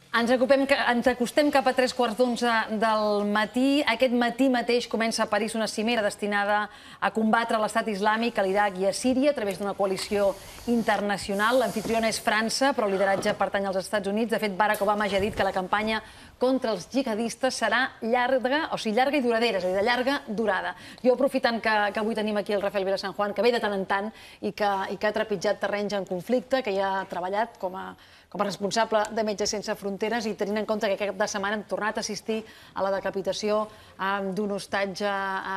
Ens acostem cap a 3:15 del matí. Aquest matí mateix comença a París una cimera destinada a combatre l'Estat Islàmic a l'Iraq i a Síria a través d'una coalició internacional. L'anfitriona és França, però el lideratge pertany als Estats Units. De fet, Barack Obama ja ha dit que la campanya contra els jihadistes serà llarga i duradera, és a dir, de llarga durada. Jo, aprofitant que avui tenim aquí el Rafael Vilasanjuan, que ve de tant en tant i que ha trepitjat terrenys en conflicte, que ja ha treballat com a responsable de Metges Sense Fronteres i tenint en compte que aquest cap de setmana hem tornat a assistir a la decapitació d'un hostatge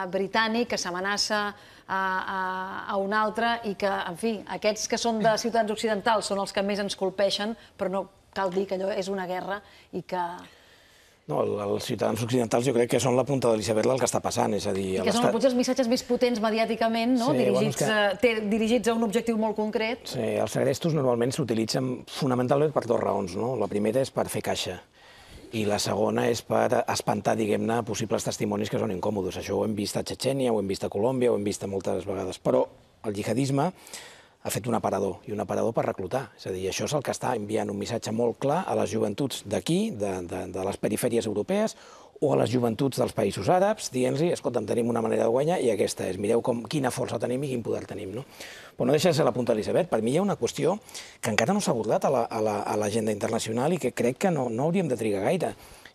britànic que s'amenaça a un altre i que, en fi, aquests que són de ciutats occidentals són els que més ens colpeixen, però no cal dir que allò és una guerra i que... No, els ciutadans occidentals jo crec que són la punta de l'iceberg del que està passant, és a dir... I que són potser els missatges més potents mediàticament, dirigits a un objectiu molt concret. Sí, els segrestos normalment s'utilitzen fonamentalment per dues raons. La primera és per fer caixa i la segona és per espantar, diguem-ne, possibles testimonis que són incòmodes. Això ho hem vist a Txetxènia, ho hem vist a Colòmbia, ho hem vist moltes vegades. Però el jihadisme ha fet un aparador, i un aparador per reclutar. És a dir, això és el que està enviant un missatge molt clar a les joventuts d'aquí, de les perifèries europees, o a les joventuts dels països àrabs, dient-los, escolta'm, tenim una manera de guanyar i aquesta és, mireu quina força tenim i quin poder tenim. Però no deixa de ser la punta de l'iceberg. Per mi hi ha una qüestió que encara no s'ha abordat a l'agenda internacional i que crec que no hauríem de trigar gaire,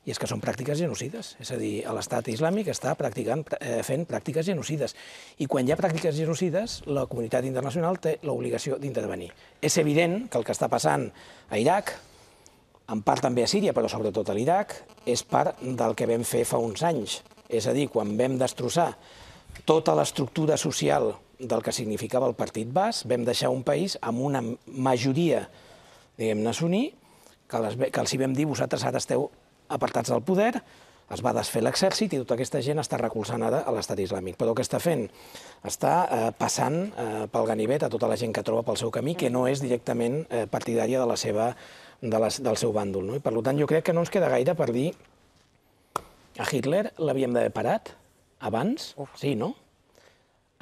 i és que són pràctiques genocides. És a dir, l'Estat Islàmic està fent pràctiques genocides. I quan hi ha pràctiques genocides, la comunitat internacional té l'obligació d'intervenir. És evident que el que està passant a Iraq, en part també a Síria, però sobretot a l'Iraq, és part del que vam fer fa uns anys. És a dir, quan vam destrossar tota l'estructura social del que significava el Partit Bas, vam deixar un país amb una majoria, diguem-ne, suní, que els hi vam dir, vosaltres ara esteu apartats del poder, es va desfer l'exèrcit i tota aquesta gent està recolzant ara a l'Estat Islàmic. Però què està fent? Està passant pel ganivet a tota la gent que troba pel seu camí, que no és directament partidària del seu bàndol. I per tant jo crec que no ens queda gaire per dir a Hitler l'havíem d'haver parat abans, sí, no?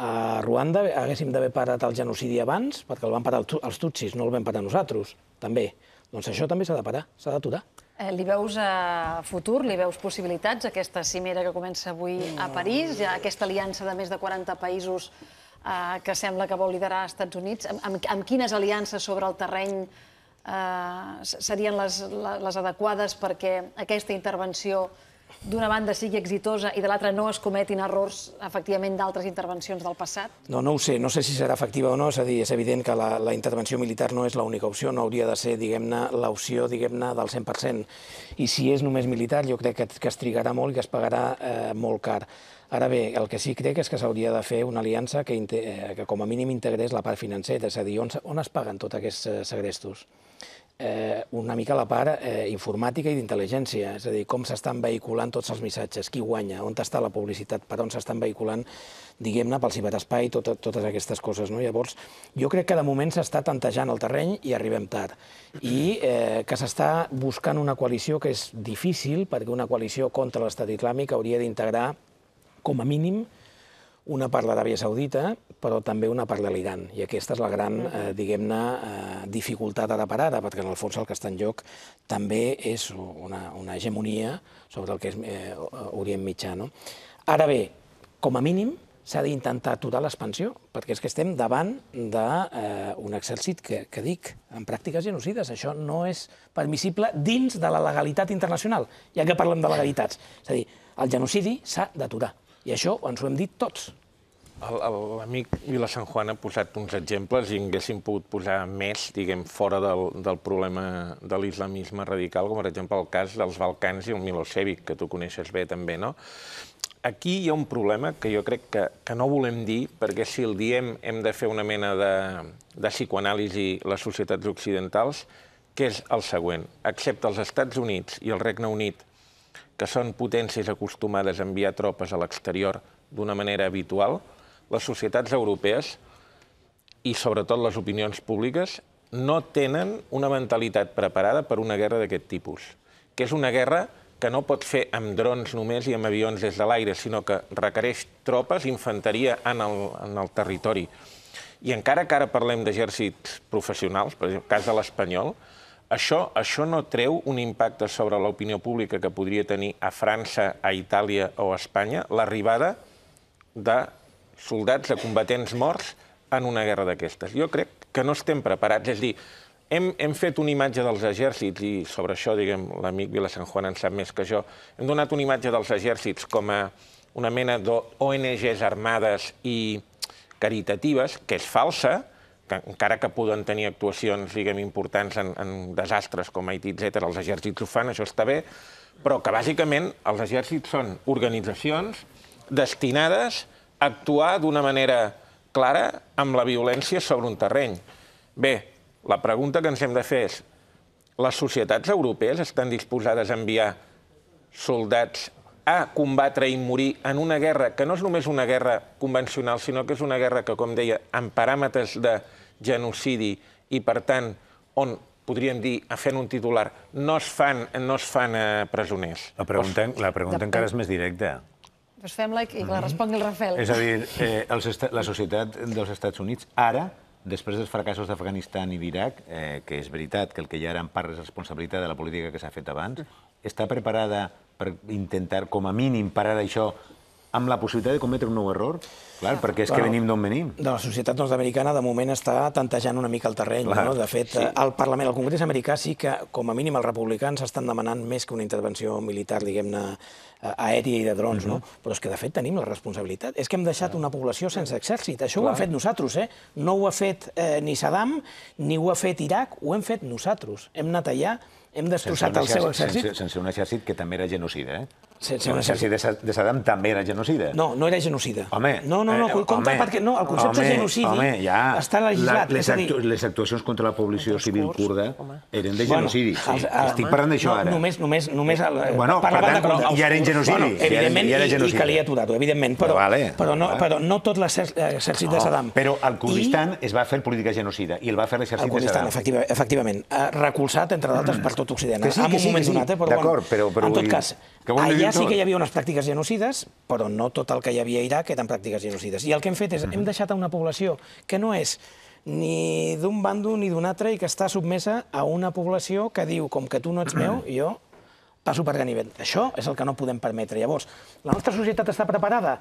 A Ruanda haguéssim d'haver parat el genocidi abans, perquè el van parar els tutsis, no el vam parar nosaltres, també. Doncs això també s'ha de parar, s'ha d'aturar. Li veus futur, li veus possibilitats, aquesta cimera que comença avui a París, aquesta aliança de més de 40 països que sembla que vol liderar als Estats Units? Amb quines aliances sobre el terreny serien les adequades perquè aquesta intervenció d'una banda sigui exitosa i de l'altra no es cometin errors, efectivament, d'altres intervencions del passat? No ho sé, no sé si serà efectiva o no, és a dir, és evident que la intervenció militar no és l'única opció, no hauria de ser, diguem-ne, l'opció, diguem-ne, del 100%. I si és només militar, jo crec que es trigarà molt i que es pagarà molt car. Ara bé, el que sí crec és que s'hauria de fer una aliança que com a mínim integrés la part financera, és a dir, on es paguen tots aquests segrestos? Una mica la part informàtica i d'intel·ligència, és a dir, com s'estan vehiculant tots els missatges, qui guanya, on està la publicitat, per on s'estan vehiculant, diguem-ne, pel ciberespai, totes aquestes coses. Llavors, jo crec que de moment s'està tantejant el terreny i arribem tard. I que s'està buscant una coalició que és difícil, perquè una coalició contra l'Estat Islàmic hauria d'integrar, com a mínim, una part de l'Aràbia Saudita, però també una part de l'Iran. I aquesta és la gran, diguem-ne, dificultat ara per ara, perquè en el fons el que està en joc també és una hegemonia sobre el que és Orient Mitjà. Ara bé, com a mínim, s'ha d'intentar aturar l'expansió, perquè és que estem davant d'un exèrcit que dic, en pràctiques genocides. Això no és permissible dins de la legalitat internacional, ja que parlem de legalitats. És a dir, el genocidi s'ha d'aturar. I això ens ho hem dit tots. L'amic Vilasanjuan ha posat uns exemples i haguéssim pogut posar més, diguem, fora del problema de l'islamisme radical, com per exemple el cas dels Balcans i el Milosevic, que tu coneixes bé també, no? Aquí hi ha un problema que jo crec que no volem dir, perquè si el diem hem de fer una mena de psicoanàlisi les societats occidentals, que és el següent. Excepte els Estats Units i el Regne Unit, que són potències acostumades a enviar tropes a l'exterior d'una manera habitual, les societats europees i sobretot les opinions públiques no tenen una mentalitat preparada per una guerra d'aquest tipus, que és una guerra que no pot fer amb drons només i amb avions des de l'aire, sinó que requereix tropes, infanteria en el territori. I encara que ara parlem d'exèrcits professionals, per exemple, el cas de l'Espanyol, això no treu un impacte sobre l'opinió pública que podria tenir a França, a Itàlia o a Espanya l'arribada de soldats, de combatents morts en una guerra d'aquestes. Jo crec que no estem preparats. És a dir, hem fet una imatge dels exèrcits, i sobre això, diguem, l'amic Vilasanjuan en sap més que jo, hem donat una imatge dels exèrcits com a una mena d'ONGs armades i caritatives, que és falsa, que encara que poden tenir actuacions, diguem, importants en desastres com Haití, etc., els exèrcits ho fan, això està bé, però que bàsicament els exèrcits són organitzacions destinades a actuar d'una manera clara amb la violència sobre un terreny. Bé, la pregunta que ens hem de fer és: les societats europees estan disposades a enviar soldats a combatre i morir en una guerra que no és només una guerra convencional, sinó que és una guerra que, com deia, amb paràmetres de genocidi i, per tant, on, podríem dir, fent un titular, no es fan presoners. La pregunta encara és més directa. Doncs fem-la i que la respongui el Rafael. És a dir, la societat dels Estats Units, ara, després dels fracassos d'Afganistan i d'Iraq, que és veritat que el que hi ha ara en part és responsabilitat de la política que s'ha fet abans, està preparada per intentar, com a mínim, parar això amb la possibilitat de cometre un nou error? Clar, perquè és que venim d'on venim. De la societat nord-americana, de moment, està tantejant una mica el terreny. De fet, al Parlament, al Congrés americà, sí que, com a mínim, els republicans estan demanant més que una intervenció militar, diguem-ne, aèria i de drons, no? Però és que, de fet, tenim la responsabilitat. És que hem deixat una població sense exèrcit. Això ho hem fet nosaltres, eh? No ho ha fet ni Saddam, ni ho ha fet Iraq, ho hem fet nosaltres. Hem anat allà, hem destrossat el seu exèrcit. Sense un exèrcit que també era genocida, eh? Un exèrcit de Saddam també era genocida. No, no era genocida. Home, no, compte, perquè no, el concepte de genocidi està legislat. Les actuacions contra la població civil kurda eren de genocidi. Estic parlant d'això ara. Només per tant, ja eren genocidi. Evidentment, i calia aturar-ho, evidentment, però no tot l'exèrcit de Saddam. Però al Kurdistan es va fer política genocida i el va fer l'exèrcit de Saddam. Efectivament, recolzat, entre d'altres, per tot Occident. En un moment donat, però en tot cas, allà sí que hi havia unes pràctiques genocides, però no tot el que hi havia a Iraq eren pràctiques genocides. I el que hem fet és, hem deixat a una població que no és ni d'un bàndol ni d'un altre i que està submesa a una població que diu, com que tu no ets meu, jo passo per ganivet. Això és el que no podem permetre. Llavors, la nostra societat està preparada?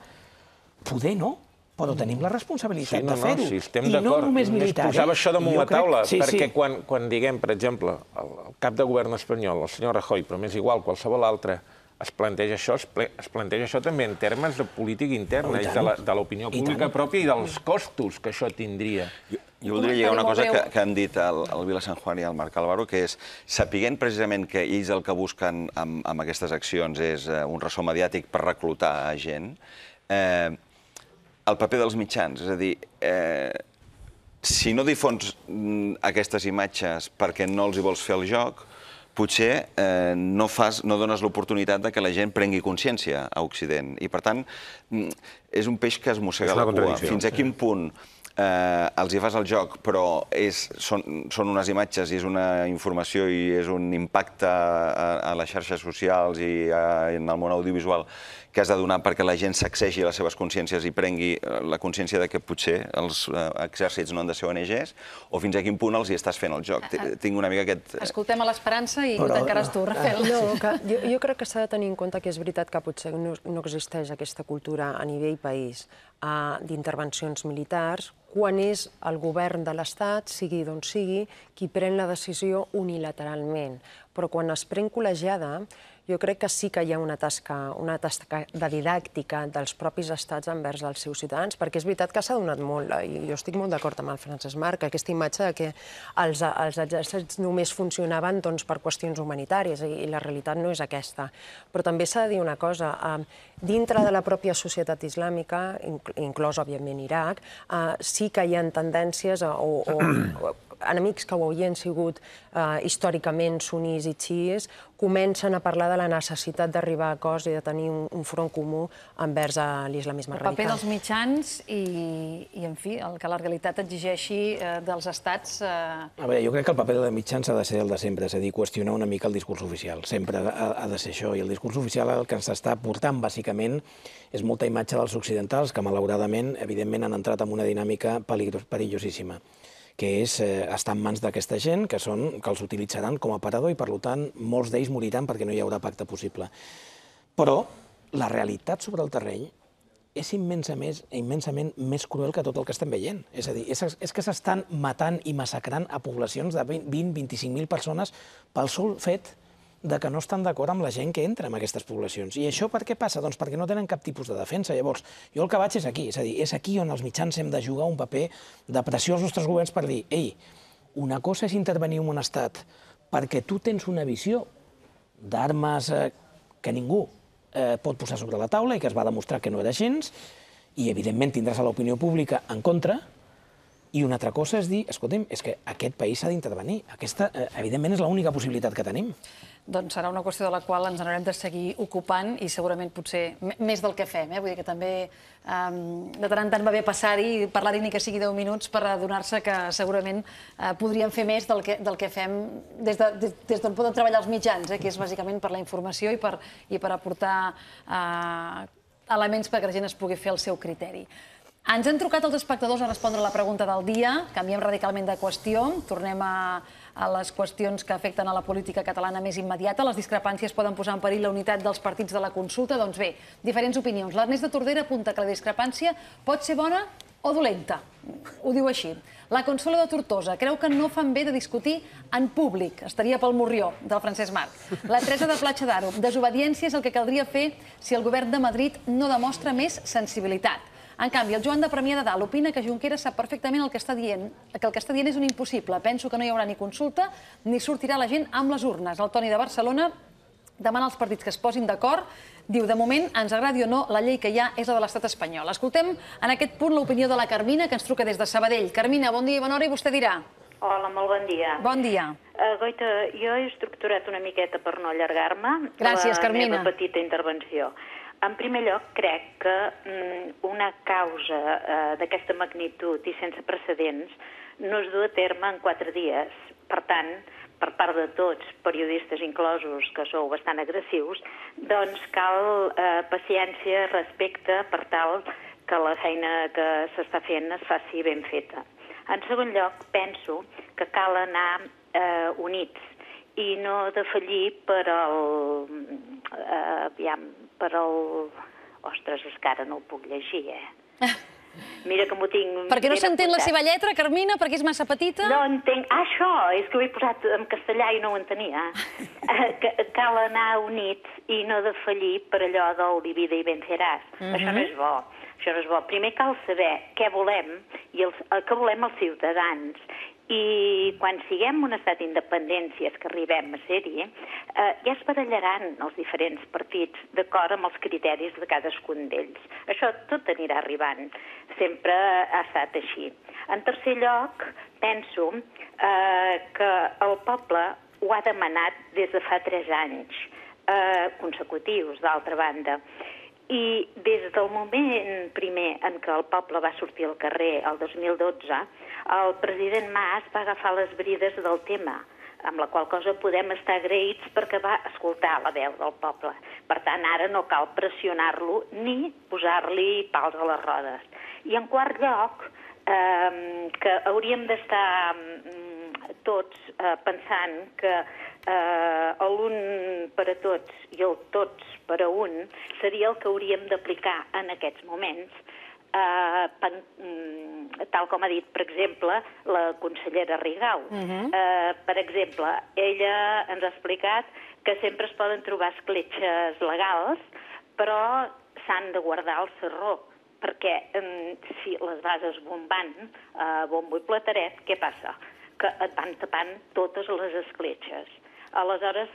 Poder no, però tenim la responsabilitat de fer-ho. Sí, estem d'acord. Només posava això damunt la taula, perquè quan diguem, per exemple, el cap de govern espanyol, el senyor Rajoy, però m'és igual, qualsevol altre, es planteja això també en termes de política interna, de l'opinió pública pròpia i dels costos que això tindria. Jo voldria lligar una cosa que han dit el Vilasanjuan i el Marc Álvaro, que és, sapiguent precisament que ells el que busquen amb aquestes accions és un ressò mediàtic per reclutar gent, el paper dels mitjans, és a dir, si no difons aquestes imatges perquè no els hi vols fer el joc, potser no dones l'oportunitat que la gent prengui consciència a Occident. I, per tant, és un peix que es mossega la cua. Fins a quin punt els hi fas el joc, però són unes imatges i és una informació i és un impacte a les xarxes socials i en el món audiovisual que has de donar perquè la gent sacsegi les seves consciències i prengui la consciència que potser els exèrcits no han de ser ONGs, o fins a quin punt els hi estàs fent el joc. Tinc una mica aquest... Escoltem a l'Esperança i ho tancaràs tu, Rafael. Jo crec que s'ha de tenir en compte que és veritat que potser no existeix aquesta cultura a nivell país d'intervencions militars, quan és el govern de l'Estat, sigui d'on sigui, qui pren la decisió unilateralment. Però quan es pren col·legiada, jo crec que sí que hi ha una tasca de didàctica dels propis estats envers els seus ciutadans, perquè és veritat que s'ha donat molt, i jo estic molt d'acord amb el Francesc Marc, aquesta imatge que els exèrcits només funcionaven per qüestions humanitàries, i la realitat no és aquesta. Però també s'ha de dir una cosa, dintre de la pròpia societat islàmica, inclòs, òbviament, Iraq, sí que hi ha tendències o enemics que ho havien sigut històricament sunis i xiís, comencen a parlar de la necessitat d'arribar a acords i de tenir un front comú envers l'islamisme radical. El paper dels mitjans i, en fi, el que la realitat exigeixi dels estats... A veure, jo crec que el paper dels mitjans ha de ser el de sempre, és a dir, qüestionar una mica el discurs oficial. Sempre ha de ser això. I el discurs oficial el que ens està portant, bàsicament, és molta imatge dels occidentals que, malauradament, evidentment, han entrat en una dinàmica perillosíssima, que és estar en mans d'aquesta gent, que els utilitzaran com a aparador i, per tant, molts d'ells moriran perquè no hi haurà pacte possible. Però la realitat sobre el terreny és immensament més cruel que tot el que estem veient. És a dir, és que s'estan matant i massacrant a poblacions de 20-25.000 persones pel sol fet que no estan d'acord amb la gent que entra en aquestes poblacions. I això per què passa? Doncs perquè no tenen cap tipus de defensa. Llavors, jo el que vaig és aquí, és a dir, és aquí on els mitjans hem de jugar un paper de pressió als nostres governs per dir, ei, una cosa és intervenir en un estat perquè tu tens una visió d'armes que ningú pot posar sobre la taula i que es va demostrar que no era gens, i evidentment tindràs a l'opinió pública en contra, i una altra cosa és dir, escolta'm, és que aquest país s'ha d'intervenir. Aquesta, evidentment, és l'única possibilitat que tenim. Doncs serà una qüestió de la qual ens n'haurem de seguir ocupant i segurament potser més del que fem. Vull dir que també de tant en tant va bé passar-hi i parlar-hi ni que sigui 10 minuts per adonar-se que segurament podríem fer més del que fem des d'on poden treballar els mitjans, que és bàsicament per la informació i per aportar elements perquè la gent es pugui fer el seu criteri. Ens han trucat els espectadors a respondre a la pregunta del dia, canviem radicalment de qüestió, tornem a les qüestions que afecten a la política catalana més immediata. Les discrepàncies poden posar en perill la unitat dels partits de la consulta. Doncs bé, diferents opinions. L'Ernest de Tordera apunta que la discrepància pot ser bona o dolenta. Ho diu així. La Consuelo de Tortosa creu que no fan bé de discutir en públic. Estaria pel Morrió, del Francesc Marc. La Teresa de Platja d'Aro. Desobediència és el que caldria fer si el govern de Madrid no demostra més sensibilitat. En canvi, el Joan de Premià de Dalt opina que Junqueras sap perfectament el que està dient, que el que està dient és un impossible. Penso que no hi haurà ni consulta ni sortirà la gent amb les urnes. El Toni de Barcelona demana als partits que es posin d'acord. Diu, de moment, ens agradi o no, la llei que hi ha és la de l'estat espanyol. Escoltem en aquest punt l'opinió de la Carmina, que ens truca des de Sabadell. Carmina, bon dia i bona hora, i vostè dirà. Hola, molt bon dia. Bon dia. Goita, jo he estructurat una miqueta per no allargar-me Gràcies, Carmina. La meva petita intervenció. En primer lloc, crec que una causa d'aquesta magnitud i sense precedents no es du a terme en 4 dies. Per tant, per part de tots, periodistes inclosos, que sou bastant agressius, doncs cal paciència, respecte, per tal que la feina que s'està fent es faci ben feta. En segon lloc, penso que cal anar units i no defallir per el... Ostres, és que ara no ho puc llegir, Mira que m'ho tinc... Perquè no s'entén la seva lletra, Carmina, perquè és massa petita? No entenc... Això, és que ho he posat en castellà i no ho entenia. Cal anar units i no defallir per allò del divide i venceràs. Això no és bo. Això no és bo. Primer cal saber què volem i què volem els ciutadans. I quan siguem un estat independent, si és que arribem a ser-hi, ja es barallaran els diferents partits d'acord amb els criteris de cadascun d'ells. Això tot anirà arribant. Sempre ha estat així. En tercer lloc, penso que el poble ho ha demanat des de fa 3 anys consecutius, d'altra banda. I des del moment primer en què el poble va sortir al carrer, el 2012, el president Mas va agafar les brides del tema, amb la qual cosa podem estar agraïts perquè va escoltar la veu del poble. Per tant, ara no cal pressionar-lo ni posar-li pals a les rodes. I en quart lloc, que hauríem d'estar tots pensant que l'un per a tots i el tots per a un seria el que hauríem d'aplicar en aquests moments, tal com ha dit, per exemple, la consellera Rigau. Per exemple, ella ens ha explicat que sempre es poden trobar escletxes legals, però s'han de guardar al sarró, perquè si les vas esbombant a bombo i plateret, què passa? Que et van tapant totes les escletxes. Aleshores,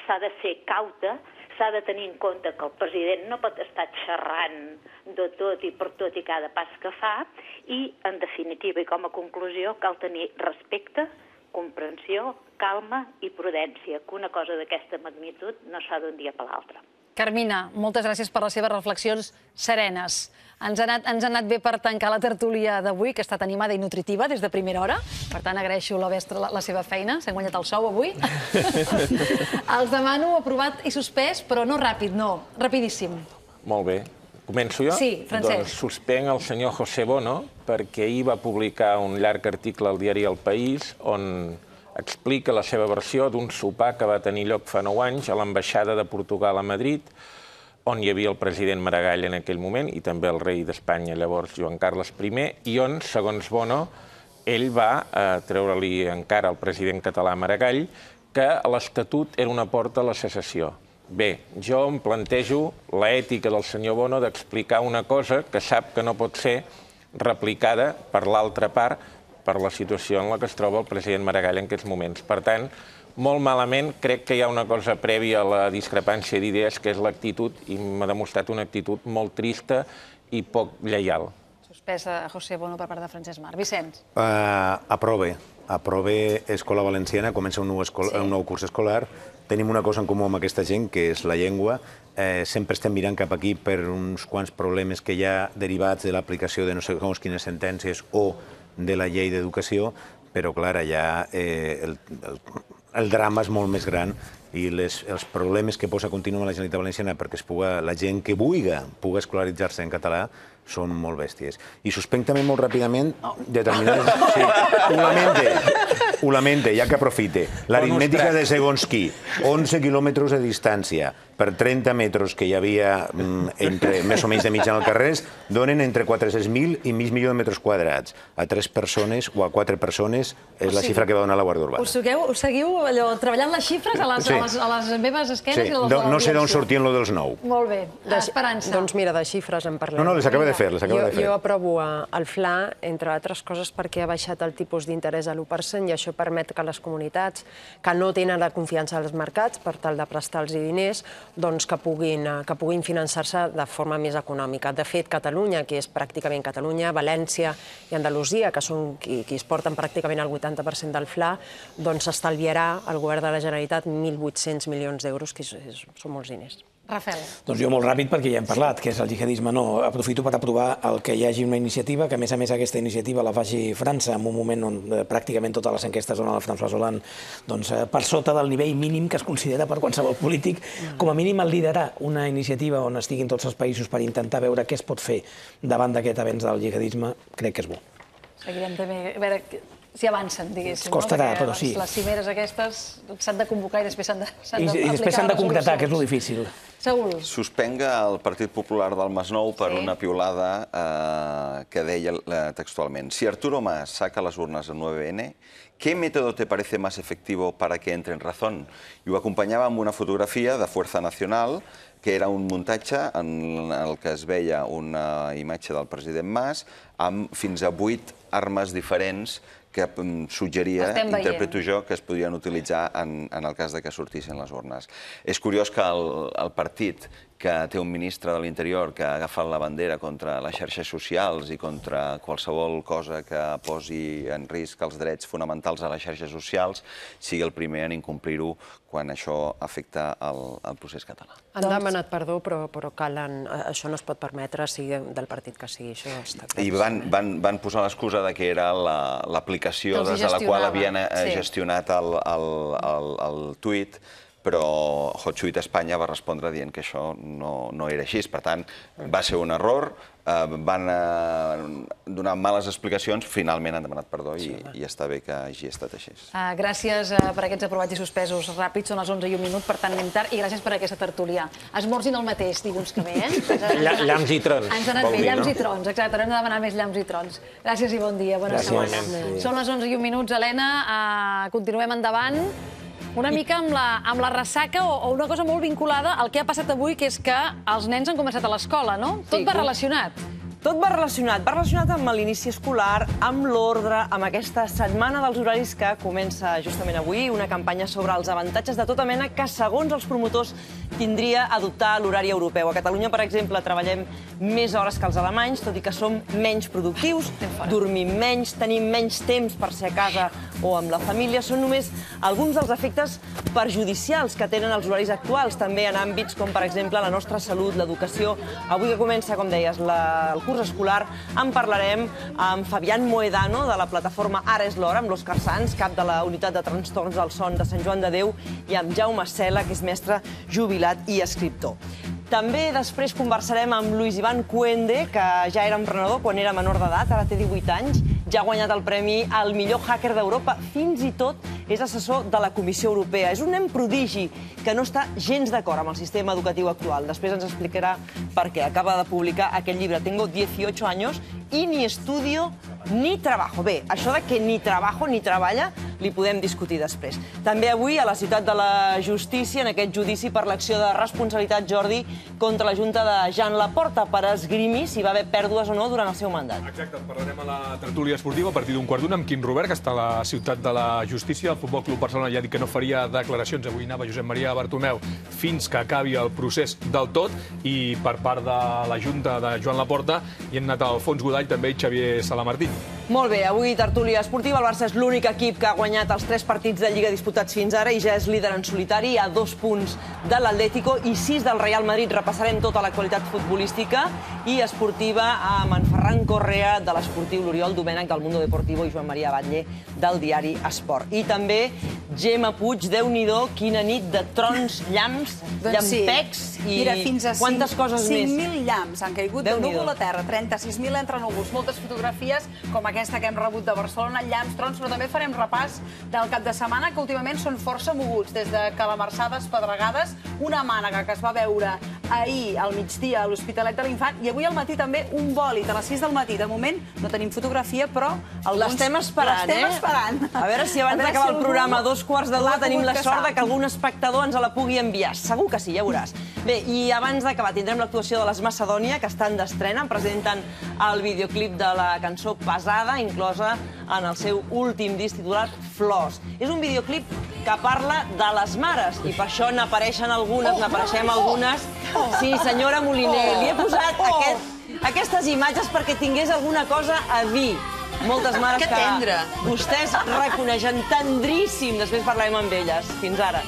s'ha de ser cauta, s'ha de tenir en compte que el president no pot estar xerrant de tot i per tot i cada pas que fa, i, en definitiva, i com a conclusió, cal tenir respecte, comprensió, calma i prudència, que una cosa d'aquesta magnitud no s'ha d'un dia per l'altre. Carmina, moltes gràcies per les seves reflexions serenes. Ens ha anat bé per tancar la tertúlia d'avui, que ha estat animada i nutritiva des de primera hora. Per tant, agraeixo la seva feina. S'han guanyat el sou avui. Els demano aprovat i suspès, però no ràpid, no. Rapidíssim. Molt bé. Començo jo? Sí, Francesc. Doncs suspenc el senyor José Bono perquè ahir va publicar un llarg article al diari El País on explica la seva versió d'un sopar que va tenir lloc fa 9 anys a l'ambaixada de Portugal a Madrid, on hi havia el president Maragall en aquell moment i també el rei d'Espanya, llavors Joan Carles I, i on, segons Bono, ell va treure-li encara al president català Maragall que l'Estatut era una porta a la secessió. Bé, jo em plantejo l'ètica del senyor Bono d'explicar una cosa que sap que no pot ser replicada per l'altra part per la situació en la que es troba el president Maragall en aquests moments. Per tant, molt malament, crec que hi ha una cosa prèvia a la discrepància d'idees, que és l'actitud, i m'ha demostrat una actitud molt trista i poc lleial. Suspesa José Bono per part de Francesc Marc. Vicenç. Aprove. Aprove Escola Valenciana, comença un nou curs escolar. Tenim una cosa en comú amb aquesta gent, que és la llengua. Sempre estem mirant cap aquí per uns quants problemes que hi ha derivats de l'aplicació de no sé quines sentències o de la llei d'educació, però, clar, allà el drama és molt més gran i els problemes que posa contínuament la Generalitat Valenciana perquè la gent que pugui escolaritzar-se en català són molt bèsties. I suspenc també molt ràpidament determinades... Sí, ho lamente, ja que aprofite. L'aritmètica de segons qui, 11 quilòmetres de distància per 30 metres que hi havia més o menys de mitjana al carrer, donen entre 400.000 i mig milió de metres quadrats. A 3 persones o a 4 persones és la xifra que va donar la Guàrdia Urbana. Us seguiu treballant les xifres a les meves esquenes? No sé d'on sortien lo dels 9. Molt bé. Esperança. Doncs mira, de xifres en parlem. No, les acaba de fer. Jo aprovo el FLA, entre altres coses, perquè ha baixat el tipus d'interès a l'1% i això permet que les comunitats que no tenen la confiança als mercats per tal de prestar-los diners, doncs que puguin finançar-se de forma més econòmica. De fet, Catalunya, que és pràcticament Catalunya, València i Andalusia, que són qui es porten pràcticament el 80% del FLA, doncs s'estalviarà al govern de la Generalitat 1.800 milions d'euros, que són molts diners. Rafael. Doncs jo molt ràpid, perquè ja hem parlat, que és el jihadisme. No, aprofito per aprovar que hi hagi una iniciativa, que a més aquesta iniciativa la faci França en un moment on pràcticament totes les enquestes donen a François Hollande per sota del nivell mínim que es considera per qualsevol polític. Com a mínim el liderar una iniciativa on estiguin tots els països per intentar veure què es pot fer davant d'aquest avenç del jihadisme, crec que és bo. Seguirem també a veure si avancen, diguéssim. Costarà, però sí. Les cimeres aquestes s'han de convocar i després s'han d'aplicar. I després s'han de concretar, que és lo difícil. Saúl. Suspenga el Partit Popular del Masnou per una piulada que deia textualment: si Arturo Mas saca las urnas del 9N, ¿qué método te parece más efectivo para que entre en razón? I ho acompanyava amb una fotografia de Fuerza Nacional, que era un muntatge en el que es veia una imatge del president Mas amb fins a 8 armes diferents que suggeria, interpreto jo, que es podrien utilitzar en el cas que sortissin les urnes. És curiós que el partit que té un ministre de l'Interior que ha agafat la bandera contra les xarxes socials i contra qualsevol cosa que posi en risc els drets fonamentals a les xarxes socials, sigui el primer en incomplir-ho quan això afecta el procés català. Han demanat perdó, però això no es pot permetre, sigui del partit que sigui. I van posar l'excusa que era l'aplicació des de la qual havien gestionat el tuit, però HotTuit Espanya va respondre dient que això no era així. Per tant, va ser un error, van donar males explicacions, finalment han demanat perdó i està bé que hagi estat així. Gràcies per aquests aprovats i suspesos ràpids, són les 11:01, per tant anem tard, i gràcies per aquesta tertúlia. Esmorzin el mateix dilluns que ve, Llamps i trons. Ens ha anat bé, llamps i trons, exacte, haurem de demanar més llamps i trons. Gràcies i bon dia, bona setmana. Són les 11:01, Helena, continuem endavant. Una mica amb la ressaca o una cosa molt vinculada al que ha passat avui, que és que els nens han començat a l'escola, no? Tot va relacionat. Tot va relacionat amb l'inici escolar, amb l'ordre, amb aquesta setmana dels horaris que comença justament avui, una campanya sobre els avantatges de tota mena que, segons els promotors, tindria adoptar l'horari europeu. A Catalunya, per exemple, treballem més hores que els alemanys, tot i que som menys productius, dormim menys, tenim menys temps per ser a casa o amb la família. Són només alguns dels efectes perjudicials que tenen els horaris actuals, també en àmbits com, per exemple, la nostra salut, l'educació. Avui que comença, com deies, el curs escolar, en parlarem amb Fabián Moedano, de la plataforma Ara és l'hora, amb l'Òscar Sans, cap de la unitat de trastorns del son de Sant Joan de Déu, i amb Jaume Cela, que és mestre jubilat i escriptor. També després conversarem amb Luis Iván Cuende, que ja era emprenedor quan era menor d'edat, ara té 18 anys, ja ha guanyat el premi al millor hacker d'Europa, fins i tot és assessor de la Comissió Europea. És un nen prodigi que no està gens d'acord amb el sistema educatiu actual. Després ens explicarà per què. Acaba de publicar aquest llibre, Tengo 18 años y ni estudio ni trabajo. Bé, això de que ni trabajo ni treballa li podem discutir després. També avui a la Ciutat de la Justícia, en aquest judici per l'acció de responsabilitat, Jordi, contra la Junta de Joan Laporta per esgrimir si va haver pèrdues o no durant el seu mandat. Exacte, parlarem a la tertúlia esportiva a partir d'un quart d'una amb Quim Robert, que està a la Ciutat de la Justícia. El Futbol Club Barcelona ja ha dit que no faria declaracions. Avui anava Josep Maria Bartomeu fins que acabi el procés del tot, i per part de la Junta de Joan Laporta hi han anat Alfons Godall també i Xavier Salamartín. Molt bé, avui tertúlia esportiva. El Barça és l'únic equip que ha guanyat els 3 partits de Lliga disputats fins ara i ja és líder en solitari, a 2 punts de l'Atlético i 6 del Real Madrid. Repassarem tota l'actualitat futbolística i esportiva amb en Ferran Correa, de l'Esportiu, l'Oriol Domènech, del Mundo Deportivo, i Joan Maria Batlle, del diari Esport. I també Gemma Puig, Déu-n'hi-do, quina nit de trons, llamps, llampecs i quantes coses més. 5.000 llamps han caigut de núvol a terra, 36.000 entre núvols, moltes fotografies com aquesta que hem rebut de Barcelona, llamps, trons, però també farem repàs del cap de setmana, que últimament són força moguts, des de calamarsades, pedregades, una mànega que es va veure ahir al migdia a l'Hospitalet de l'Infant, i avui al matí també un bòlit a les 6 del matí. De moment no tenim fotografia, però l'estem esperant, A veure si abans d'acabar el programa, a 2:15 tenim la sort que algun espectador ens la pugui enviar. Segur que sí, ja veuràs. Bé, i abans d'acabar tindrem l'actuació de les Macedònia, que estan d'estrena, presenten el videoclip de la cançó Pesada, inclosa en el seu últim disc titulat Flors. És un videoclip que parla de les mares, i per això n'apareixen algunes, n'apareixem algunes. Sí, senyora Moliner, li he posat aquestes imatges perquè tingués alguna cosa a dir. Moltes mares que vostès reconeixen, tendríssim. Després parlarem amb elles. Fins ara.